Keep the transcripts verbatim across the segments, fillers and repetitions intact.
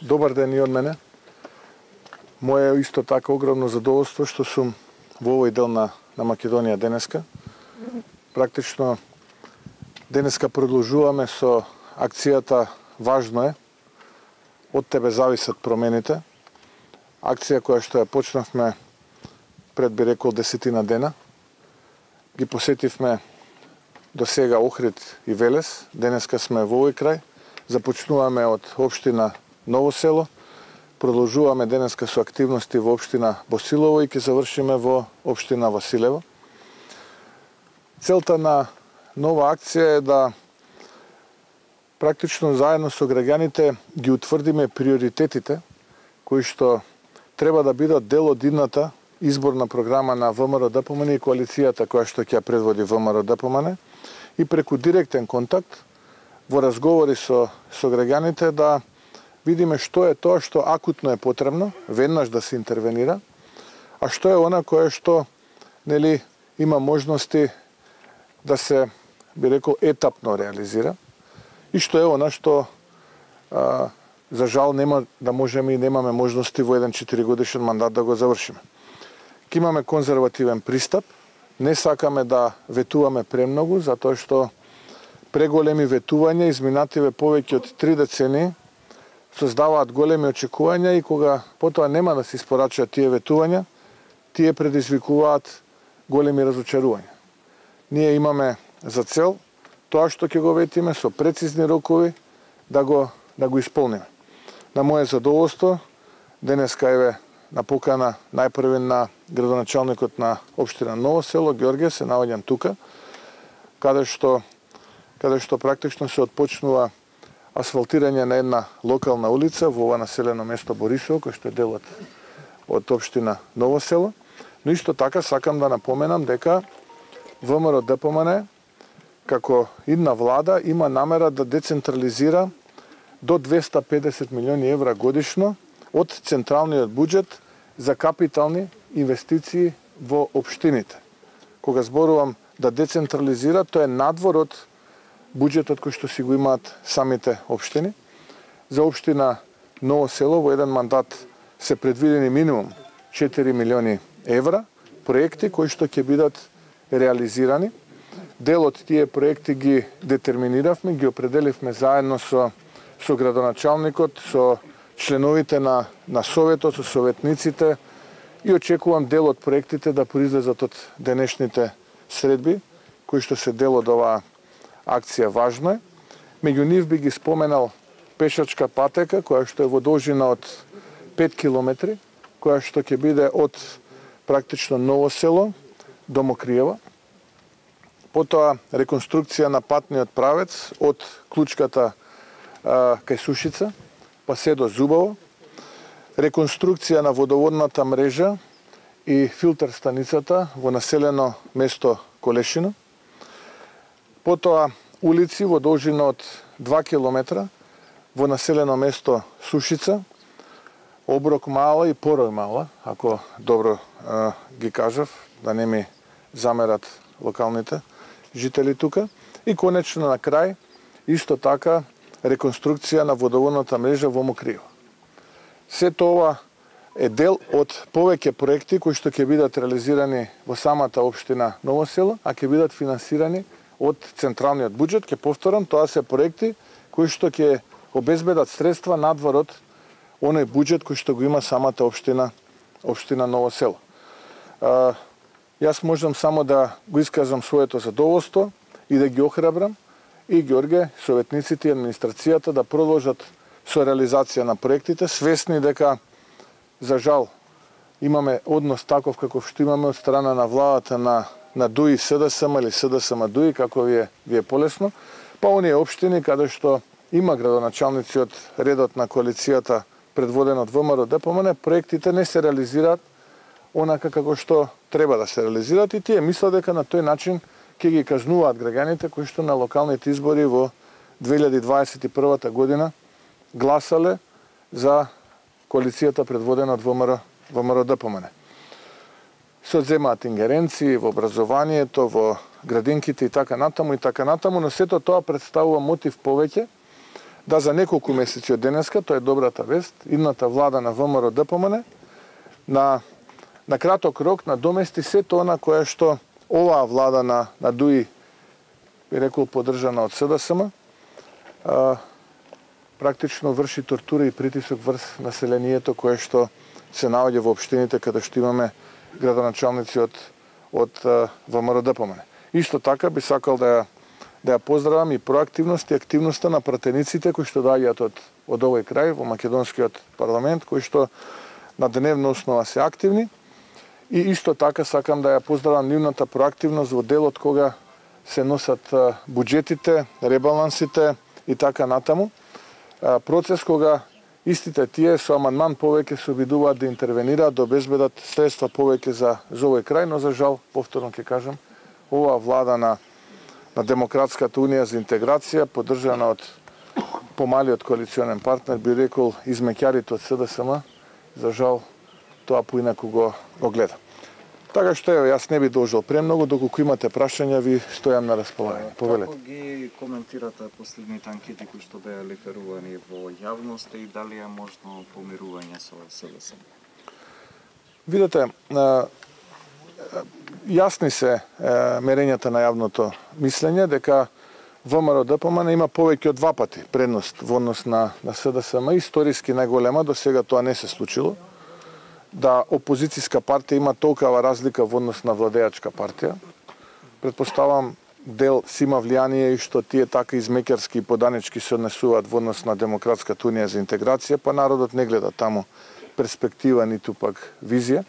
Добар ден и од мене. Моje исто така огромно задоволство што сум во овој дел на, на Македонија денеска. Практично денеска продолжуваме со акцијата Важно е, од тебе зависат промените. Акција која што ја почнавме пред би рекол десетина дена. Ги посетивме до сега Охрид и Велес. Денеска сме во овој крај. Започнуваме од општина Ново село. Продолжуваме денеска со активности во општина Босилово и ќе завршиме во општина Василево. Целта на нова акција е да практично заедно со граѓаните ги утврдиме приоритетите кои што треба да бидат дел од идната изборна програма на ВМРО-ДПМН и коалицијата која што ќе ја предводи ВМРО-ДПМН и преку директен контакт во разговори со, со граѓаните да видиме што е тоа што акутно е потребно, веднаш да се интервенира, а што е она кое што нели има можности да се, би рекол, етапно реализира и што е она што а, за жал нема да можеме и немаме можности во еден четиригодишен мандат да го завршиме. Ке имаме конзервативен пристап, не сакаме да ветуваме премногу, затоа што преголеми ветувања изминативе повеќе од три децении создаваат големи очекувања и кога потоа нема да се испорачаат тие ветувања, тие предизвикуваат големи разочарувања. Ние имаме за цел тоа што ќе го ветиме со прецизни рокови да го да го исполниме. На моје задоволство денеска еве на покана најпрви на градоначалникот на општина Ново село Ѓорѓе се наоѓам тука, каде што каде што практично се отпочнува асфалтирање на една локална улица во ова населено место Борисово, кој што е дел од, од општина Ново село. Но исто така сакам да напоменам дека ВМРО-ДПМН како идна влада има намера да децентрализира до двеста педесет милиони евра годишно од централниот буџет за капитални инвестиции во општините. Кога зборувам да децентрализира, тоа е надвор од буџетот кој што си го имаат самите општини. За општина Ново село во еден мандат се предвидени минимум четири милиони евра проекти кои што ќе бидат реализирани. Дел од тие проекти ги детерминиравме, ги определивме заедно со со градоначалникот, со членовите на на советот, со советниците и очекувам дел од проектите да произлезат од денешните средби кои што се дел од оваа акција Важно е. Меѓу нив би ги споменал пешачка патека која што е во должина од пет километри, која што ќе биде од практично Ново село до Мокриева. Потоа реконструкција на патниот правец од Клучката а, кај Сушица, па се до Зубово. Реконструкција на водоводната мрежа и филтер станицата во населено место Колешино. Потоа улици во должина од два километра во населено место Сушица, Оброк мала и Порој мала, ако добро а, ги кажав, да не ми замерат локалните жители тука. И конечно на крај, исто така, реконструкција на водоводната мрежа во Мокриево. Сето ова е дел од повеќе проекти кои што ќе бидат реализирани во самата општина Ново село, а ќе бидат финансирани од централниот буџет. Ќе повторам, тоа се проекти кои што ќе обезбедат средства надвор од оној буџет кој што го има самата општина општина Ново село. А, јас можам само да го искажам своето задоволство и да ги охрабрам и Ѓорѓе, советниците и администрацијата да продолжат со реализација на проектите, свесни дека за жал имаме однос таков каков што имаме од страна на владата на на ДУИ СДСМ или СДСМ ДУИ, како ви е, ви е полесно, па оние општини каде што има градоначалници од редот на коалицијата предводен од ВМРО-ДПМН, проектите не се реализираат онака како што треба да се реализираат и тие мислат дека на тој начин ќе ги казнуваат граѓаните кои што на локалните избори во две илјади дваесет и прва година гласале за коалицијата предводена од ВМРО, ВМРО-ДПМН. Се одземаат ингеренции во образованието, во градинките и така натаму и така натаму, но сето тоа представува мотив повеќе да за неколку месеци од денеска, тоа е добрата вест, идната влада на ВМРО-ДПМН на на краток рок надомести сето она кое што оваа влада на на ДУИ, би рекол поддржана од СДСМ, а, практично врши тортура и притисок врз населението кое што се наоѓа во општините каде што имаме градоначалници од од ВМРО-ДПМН. Исто така би сакал да ја да ја поздравам и проактивност и активноста на пратениците кои што доаѓаат од од овој крај во македонскиот парламент, кои што на дневна основа се активни. И исто така сакам да ја поздравам нивната проактивност во делот кога се носат буџетите, ребалансите и така натаму. Процес кога истите тие со амандман повеќе се обидуваат да интервенираат, да обезбедат средства повеќе за, за овој крај, но за жал, повторно ќе кажам, оваа влада на, на Демократската унија за интеграција, поддржана од помалиот коалиционен партнер, би рекол измеќарите од СДСМ, за жал, тоа поинаку го, го гледа. Така што ево, јас не би должил премногу, доколку имате прашања, ви стојам на располагање. Повелете. Како ги коментирате последните анкети кои што беа лиферувани во јавност и дали е можно помирување со СДСМ? Видете, јасни се мерењата на јавното мислење дека ВМРО-ДПМН има повеќе од два пати предност во однос на, на СДСМ, историски најголема, до сега тоа не се случило. Да опозицијска партија има толкава разлика во однос на владеачка партија. Предпоставам дел си има влијание и што тие така измеќарски и поданички се однесуваат во однос на Демократската унија за интеграција, па народот не гледа таму перспектива ниту пак визија.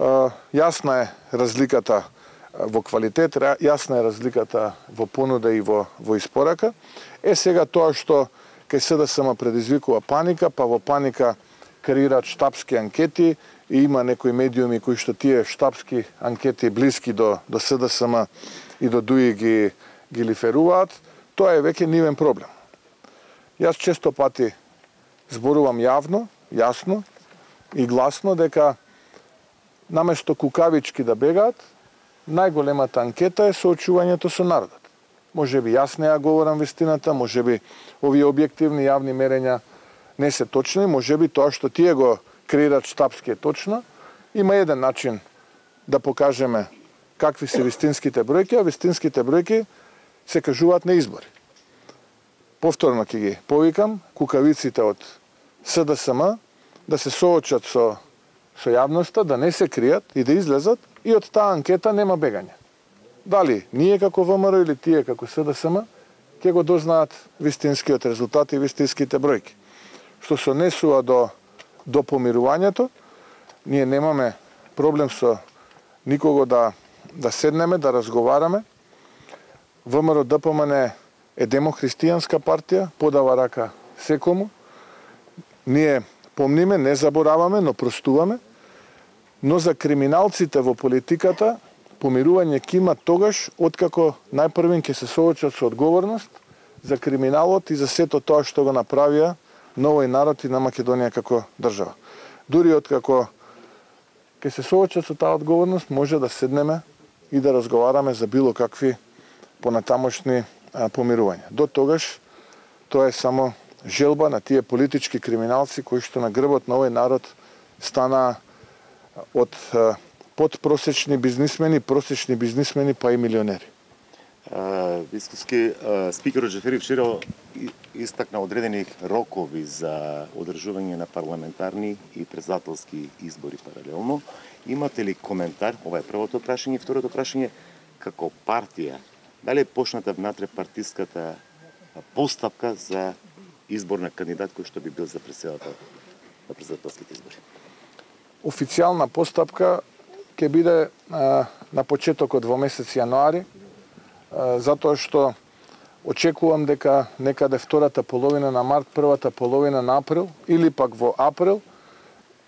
Јасна е разликата во квалитет, јасна е разликата во понуда и во, во испорака. Е сега тоа што кај СДСМ предизвикува паника, па во паника креираат штабски анкети и има некои медиуми кои што тие штабски анкети блиски до, до СДСМ и до ДУИ ги, ги лиферуваат, тоа е веќе нивен проблем. Јас често пати зборувам јавно, јасно и гласно дека наместо кукавички да бегаат, најголемата анкета е соочувањето со народот. Може би јас не ја говорам вистината, може би овие објективни јавни мерења не се точни, може би тоа што тие го креираат штабски е точно. Има еден начин да покажеме какви се вистинските бројки, а вистинските бројки се кажуваат на избори. Повторно ќе ги повикам кукавиците од СДСМ да се соочат со, со јавноста, да не се кријат и да излезат, и од таа анкета нема бегање. Дали ние како ВМРО или тие како СДСМ ќе го дознаат вистинскиот резултат и вистинските бројки. Што се однесува до, до помирувањето, ние немаме проблем со никого да, да седнеме, да разговараме. ВМРО-ДПМН е демохристијанска партија, подава рака секому. Ние помниме, не забораваме, но простуваме. Но за криминалците во политиката, помирување ќе има тогаш, откако најпрвен ќе се соочат со одговорност за криминалот и за сето тоа што го направија на овој народ и на Македонија како држава. Дури откако ќе се соочат со таа одговорност, може да седнеме и да разговараме за било какви понатамошни а, помирувања. До тогаш тоа е само желба на тие политички криминалци кои што на грбот на овој народ стана од а, подпросечни бизнисмени, просечни бизнисмени па и милионери. Вискуски спикерот Джафери вчера истакна одредени рокови за одржување на парламентарни и председателски избори паралелно. Имате ли коментар? Ова е првото прашање. Второто прашање, како партија, дали е почната внатре партиската постапка за избор на кандидат кој што би бил за председател на председателските избори? Официјална постапка ќе биде а, на почетокот во месец јануари, затоа што очекувам дека некаде втората половина на март, првата половина на април или пак во април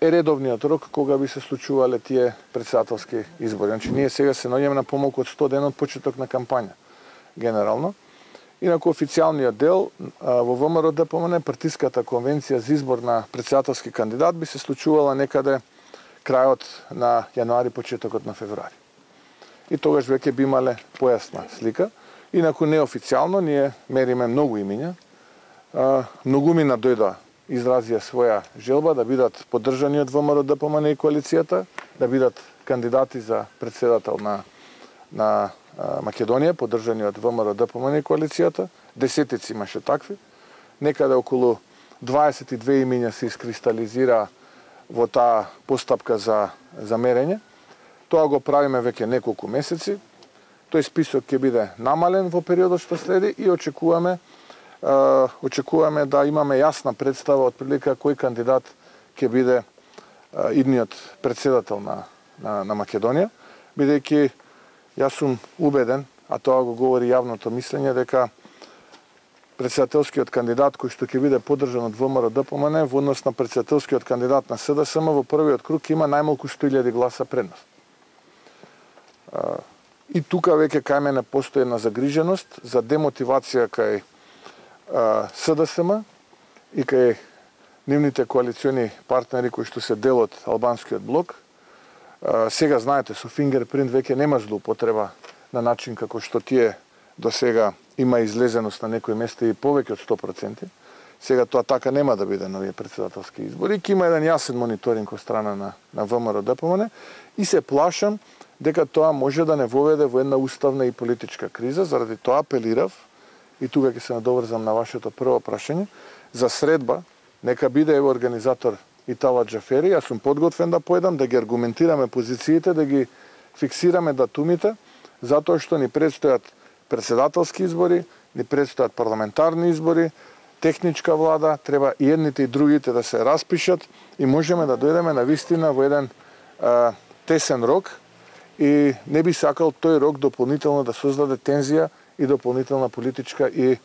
е редовниот рок кога би се случувале тие председателски избори. Значи ние сега се наоѓаме на помалку од сто дена од почеток на кампања генерално. Инаку официјалниот дел во ВМРО-ДПМН, партиската конвенција за избор на председателски кандидат би се случувала некаде крајот на јануари, почетокот на февруари. И тогаш веќе би имале појасна слика. Инаку неофицијално ние мериме многу имиња многумина дојда изразија своја желба да бидат поддржани од ВМРО-ДПМН и коалицијата, да бидат кандидати за председател на на Македонија, поддржани од ВМРО-ДПМН и коалицијата. Десетици имаше такви. Некаде околу дваесет и две имиња се искристализира во таа постапка за за мерење. Тоа го правиме веќе неколку месеци. Тој список ќе биде намален во периодот што следи и очекуваме е, очекуваме да имаме јасна представа од прилика кој кандидат ќе биде е, идниот председател на на, на Македонија, бидејќи јас сум убеден, а тоа го говори јавното мислење, дека председателскиот кандидат кој што ќе биде поддржан од ВМРО-ДПМН во однос на председателскиот кандидат на СДСМ во првиот круг има најмалку сто илјади гласа предност. И тука веќе кај мене постои една загриженост за демотивација кај СДСМ и кај нивните коалициони партнери кои што се дел од албанскиот блок. Сега знаете, со фингерпринт веќе нема злоупотреба на начин како што тие до сега има излезеност на некои места и повеќе од сто проценти. Сега тоа така нема да биде нови председателски избори. Ќе има еден јасен мониторинг од страна на, на ВМРО-ДПМН и се плашам дека тоа може да не воведе во една уставна и политичка криза. Заради тоа апелирав, и тука ќе се надоврзам на вашето прво прашање, за средба, нека биде ево организатор Итала Џафери, јас сум подготвен да поедам, да ги аргументираме позициите, да ги фиксираме датумите, затоа што ни предстојат председателски избори, ни предстојат парламентарни избори, техничка влада, треба и едните и другите да се распишат и можеме да дојдеме на вистина во еден а, тесен рок и не би сакал тој рок дополнително да создаде тензија и дополнителна политичка и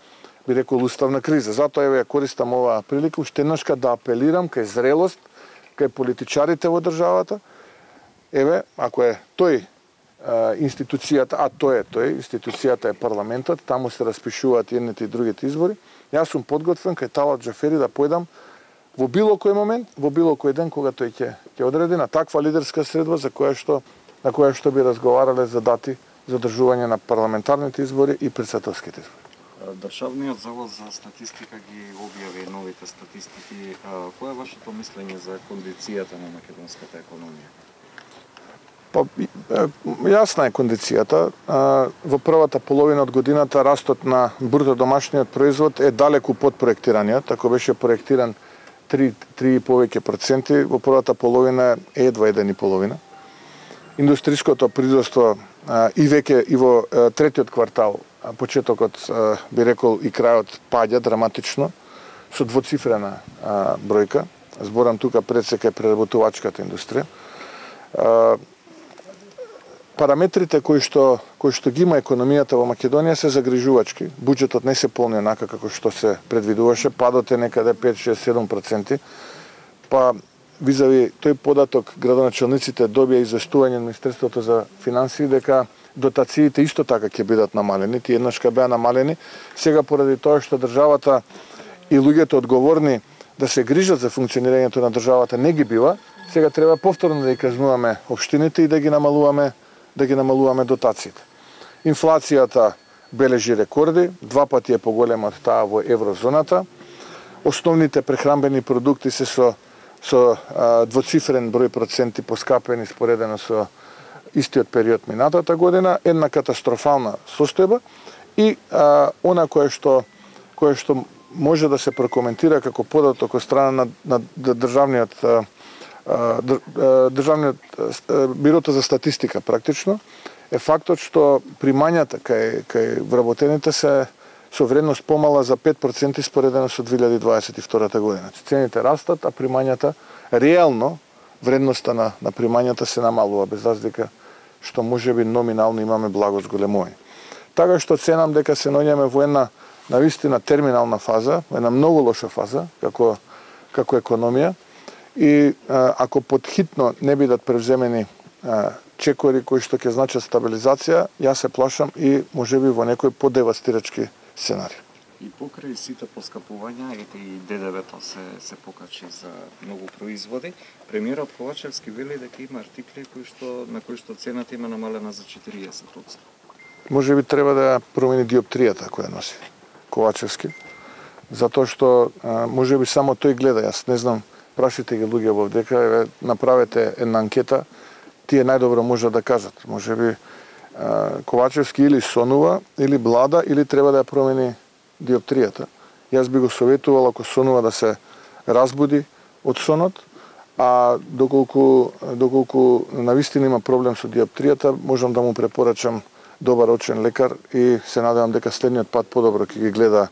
би рекол уставна криза. Затоа еве ја користам оваа прилика уште еднашка да апелирам кај зрелост, кај политичарите во државата. Еве, ако е тој институцијата, а тој е тој, институцијата е парламентот, таму се распишуваат едните и другите избори. Јас сум подготвен кај Талат Џафери да појдам во било кој момент, во било кој ден кога тој ќе ќе одреди на таква лидерска средба за која што на која што би разговарале за дати за одржување на парламентарните избори и председателските избори. Државниот завод за статистика ги објави новите статистики. Кој е вашето мислење за кондицијата на македонската економија? Па, јасна е кондицијата. Во првата половина од годината растот на бруто домашниот производ е далеку под проектираниот, ако беше проектиран три и повеќе проценти, во првата половина е едва еден и половина. Индустриското производство и веќе и во третиот квартал, почетокот би рекол и крајот паѓа драматично со двоцифрена бројка. Зборам тука пред се кај преработувачката индустрија. Параметрите кои што кои што ги има економијата во Македонија се загрижувачки. Буџетот не се полни онака како што се предвидуваше, падот е некаде пет, шест, седум проценти. Па визави тој податок градоначелниците добија известување на Министерството за финансии дека дотациите исто така ќе бидат намалени, тие еднашка беа намалени. Сега поради тоа што државата и луѓето одговорни да се грижат за функционирањето на државата не ги бива, сега треба повторно да ги казнуваме општините и да ги намалуваме да ги намалуваме дотациите. Инфлацијата бележи рекорди, два пати е поголема од таа во еврозоната. Основните прехранбени продукти се со со а, двоцифрен број проценти поскапени споредено со истиот период минатата година, една катастрофална состојба и а, она кое што кое што може да се прокоментира како податок од страна на, на државниот а, државниот бирото за статистика практично е фактот што примањата кај кај вработените се со вредност помала за пет проценти споредено со две илјади дваесет и втора година. Цените растат, а примањата реално вредноста на на примањата се намалува без разлика што можеби номинално имаме благо зголемување. Така што ценам дека се наоѓаме во една навистина терминална фаза, во една многу лоша фаза како како економија. И а, ако подхитно не бидат превземени а, чекори кои што ќе значат стабилизација, јас се плашам и можеби во некој подевастирачки сценари. И покрај сите поскапувања, ете и Д Д В-то се се покачи за многу производи, премиерот Ковачевски вели дека има артикли кои што на кои што цената има намалена за четириесет проценти. Можеби треба да промени диоптријата која носи Ковачевски. затоа што може би само тој гледа, јас не знам, прашите ги луѓе во дека, еве, направете една анкета, тие најдобро можат да кажат. Може би Ковачевски или сонува, или блада, или треба да ја промени диоптријата. Јас би го советувал ако сонува да се разбуди од сонот, а доколку доколку навистина има проблем со диоптријата, можам да му препорачам добар очен лекар и се надевам дека следниот пат подобро ќе ги гледа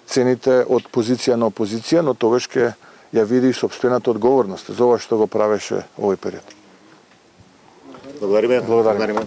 цените од позиција на опозиција, но тогаш ќе ја види и сопствената одговорност за ова што го правеше овој период. Благодариме. Благодариме.